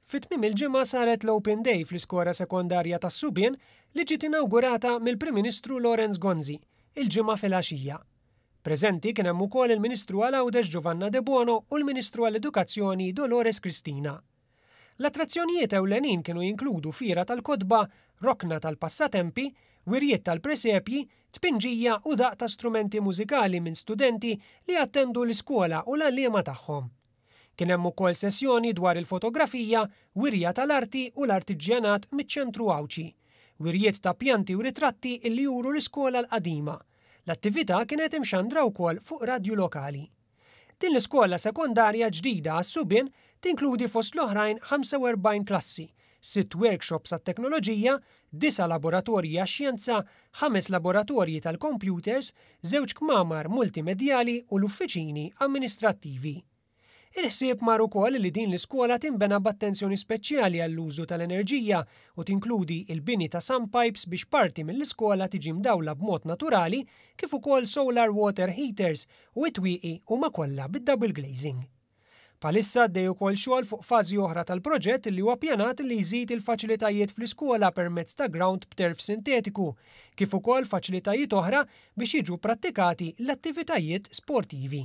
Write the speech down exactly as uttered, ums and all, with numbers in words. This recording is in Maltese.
Fi tmiem il-ġimgħa saret l-Open Day fl-iskola sekondarja tas-Subien li ġiet inawgurata mill-Prim Ministru Lawrence Gonzi il-Ġimgħa filgħaxija. Preżenti kien hemm ukoll il-Ministru għal Għawdex Giovanna Debono u l-Ministru għall-Edukazzjoni Dolores Cristina. L-attrazzjonijiet ewlenin kienu jinkludu fiera tal-kotba, rokna tal-passatempi, wirjiet tal-presepji, tpinġija u daqq ta' strumenti mużikali minn studenti li attendu l-iskola u l-għalliema tagħhom. Kien hemm ukoll sessjoni dwar il-fotografija, wirja tal-arti u l-artiġjanat miċ-Ċentru Għawdxi, wirjiet ta' pjanti u ritratti illi juru l-iskola l-qadima. L-attività kienet imxandra wkoll fuq radju lokali. Din l-iskola sekondarja ġdida għas-subien tinkludi fost l-oħrajn ħamsa u erbgħin klassi, sitt workshops għat-teknoloġija, disa' laboratorji għax-xjenza, ħames laboratorji tal-computers, żewġ kmamar multimedjali u l-uffiċini amministrattivi. Il-ħsieb mar ukoll li din l-iskola tinbena b'attenzjoni speċjali għall-użu tal-enerġija u tinkludi il-bini ta' sump pipes biex parti mill-iskola tiġi mdawla b'mod naturali, kif ukoll solar water heaters, u it-twieqi huma kollha bid-double glazing. Bħalissa għaddej ukoll xogħol fuq fażi oħra tal-proġett li huwa pjanat li jżid il-faċilitajiet fl-iskola permezz ta' ground b'turf sintetiku, kif ukoll faċilitajiet oħra biex jiġu prattikati l-attivitajiet sportivi.